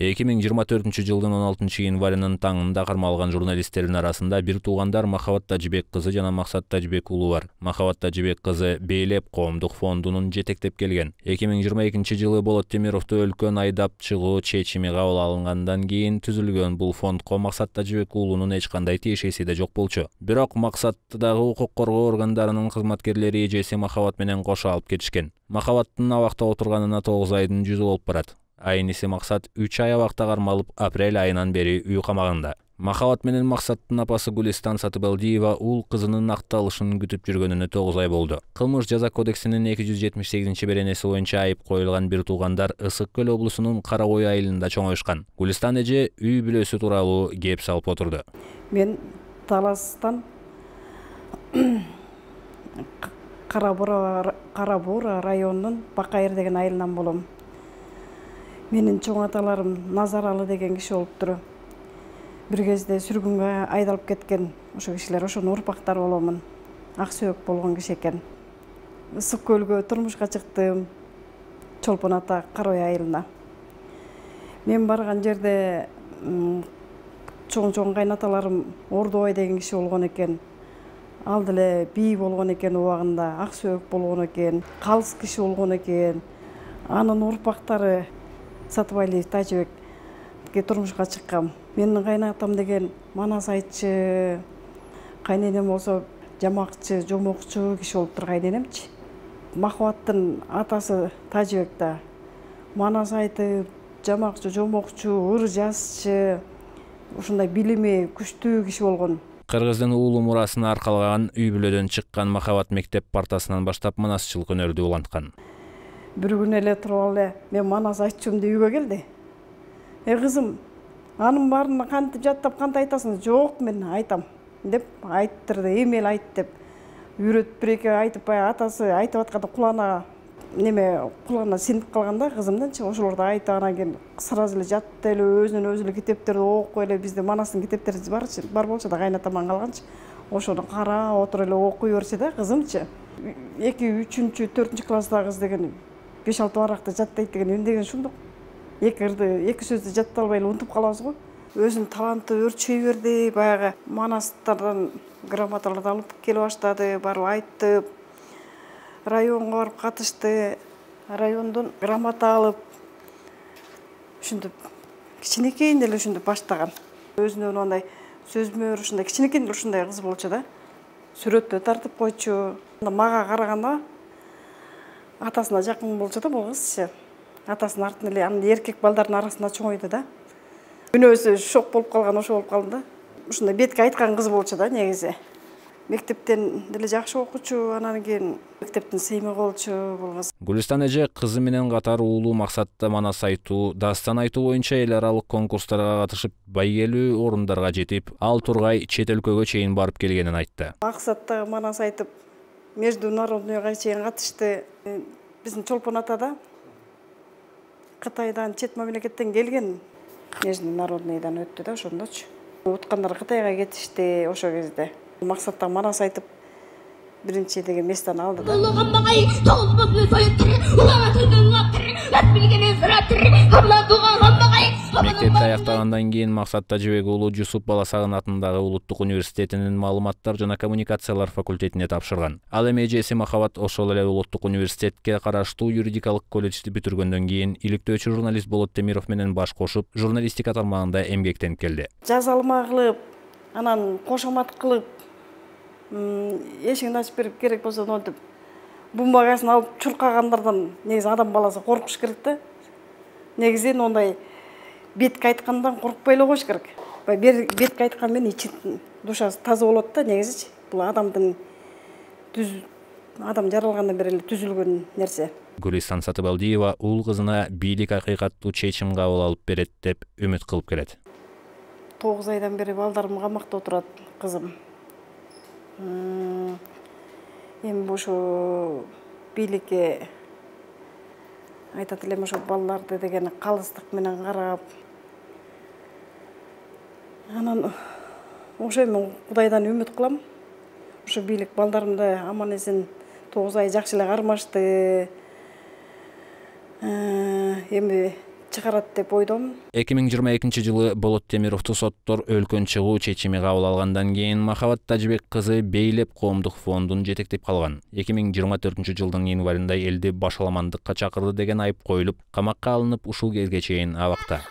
2024-жылдын 16-январынын таңында кармалган журналисттердин арасында бир туугандар Махабат Тажибек кызы жана Максат Тажибек уулу бар. Махабат Тажибек кызы Бейлеп коомдук фондунун жетектеп келген. 2022-жылы Болот Темировду өлкөнүн айдап чыгуу чечими кабыл алынгандан кийин түзүлгөн бул фондко Максат Тажибек уулунун эч кандай тиешеси да жок болчу. Бирок Максаттагы укук коргоо органдарынын кызматкерлери эжеси Махабат менен кошо алып кетишкен. Махабаттын абакта отурганына 9 айдын жүзү болуп барат. Айниси Максат 3 ай абакта кармалып, апрель айынан бери үй камагында. Махабат менен Максаттын апасы Гулистан Сатыбалдиева ул кызынын акталышын күтүп жүргөнүнө 9 ай болду. Кылмыш жаза кодексинин 278-беренеси боюнча айып коюлган бир туугандар Ысык Көл облусунун Кара Ой айылында чоңоюшкан. Гулистан эже үй бүлөсү тууралуу кеп салып отурду. Мен Таластан Кара Бура районунун Бакайыр деген айылынан болом. Менин чоң аталарым Назаралы деген киши болуптур. Бир кезде сүргүнгө айдалып кеткен. Ошо кишилер ошонун урпактары боломун. Ак сөөк болгон киши экен. Ысык Көлгө турмушка чыктым. Чолпон ата Кара Ой айылына. Мен барган жерде чоң кайнаталарым Ордобай деген киши болгон экен. Ал деле бий болгон экен убагында, ак сөөк болгон экен, калыс киши болгон экен. Анын урпактары Сатыбалиев Тажибекке турмушка чыккан. Менин кайнатам деген манас айтчы, кайненем болсо жамакчы, жомокчу киши болуптур кайненемчи. Махабаттын атасы Тажибек да манас айтып, жамакчы, жомокчу, ыр жазчы, ушундай билими күчтүү киши болгон. Кыргыздын уулу мурасына аркалган үй бүлөдөн чыккан Махабат мектеп партасынан баштап манасчылык өнөрдү уланткан. Бир күн эле туруп эле мен манас айтчумду үйгө келди. Кызым, анын баарын кантип жаттап кантип айтасың? Жок, мен айтам деп айттырды. Эмел айт деп үйрөтүп бир-эки айтып атасы айтып атканда кулагына синип калганда кызымдынчы ошолорду айтып анан кийин сразу эле жатты эле өзүнөн өзү эле китептерди окуп эле бизде манастын китептери бар болчу да кайнатаман калганчы. Ошону карап отуруп эле окуй берчи да кызымчы. 2, 3, 4 класстагы кыз деген 5-6 баракты жаттайт деген эмне ушундук. Эки сөздү жаттай албай эле унутуп калабыз го. Өзүнүн таланты өрчөй берди. Баягы манастардан грамоталарды алып келе баштады, барып айтып, районго барып катышты. Райондон грамота алып, ушинтип кичинекейинде эле ушинтип баштаган. Өзүнөн андай сөзмөр ушундай кичинекейинде эле ушундай кыз болчу да. Сүрөттө тартып койчу. Мага караганда атасына жакын болчу да бул кызчы. Атасынын артынан эле анын эркек балдардын арасында чоңойду да. Үнөөсү шок болуп калган ошо болуп калды да. Ушундай бетке айткан кыз болчу да негизи. Мектептен деле жакшы окучу, анан кийин мектептин сыймыгы болчу бул кыз. Гулистан эже кызы менен катар уулу Максатта манас айтуу, дастан айтуу боюнча эл аралык конкурстарга катышып, байгелүү орундарга жетип, ал тургай чет өлкөгө чейин барып келгенин айтты. Максатта манас айтып, международныйга чейин катышты. Биздин Чолпон атада Кытайдан, чет мамлекеттен келген, международныйдан өттү да ошондочу. Уткандар Кытайга кетишти ошо кезде. Максатта манас айтып, биринчи деген местени алды да. Мектепти аяктагандан кийин Максат Тажибек уулу Жусуп Баласагын атындагы Улуттук университетинин маалыматтар жана коммуникациялар факультетине тапшырган. Ал эми эжеси Махабат ошол эле Улуттук университетке караштуу юридикалык колледжди бүтүргөндөн кийин иликтөөчү журналист Болот Темиров менен баш кошуп, журналистика тармагында эмгектенип келди. Жазалма кылып, анан кошомат кылып, эшигин ачып берип керек болсо монтип бумагасын алып чуркагандардан негизи адам баласы коркуш керек да. Негизи ондай бетке айткандан коркпой эле коюш керек. Бетке айткан менен ичин душасы таза болот да негизичи. Бул адам жаралгандан бери эле түзүлгөн нерсе. Гулистан Сатыбалдиева ул кызына бийлик акыйкаттуу чечим кабыл алып берет деп үмүт кылып келет. 9 айдан бери балдарым камакта отурат, кызым. Эми ошо бийликке айтат элем ошо балдарды деген калыстык менен карап. Анан ошо мен Кудайдан үмүт кылам. Ошо бийлик балдарымды аман эсен 9 ай жакшы эле кармашты. Эми чыгарат деп ойдомун. 2022 Болот Темировду соттор өлкөн чыгуу чечими кабыл алгандан кийин Махабат Тажыбек кызы Бейлеп коомдук фондун жетектеп калган. 2024 жылдын январында элди башаламандыкка чакырды деген айып коюлуп, камакка алынып ушул кезге чейин абакта.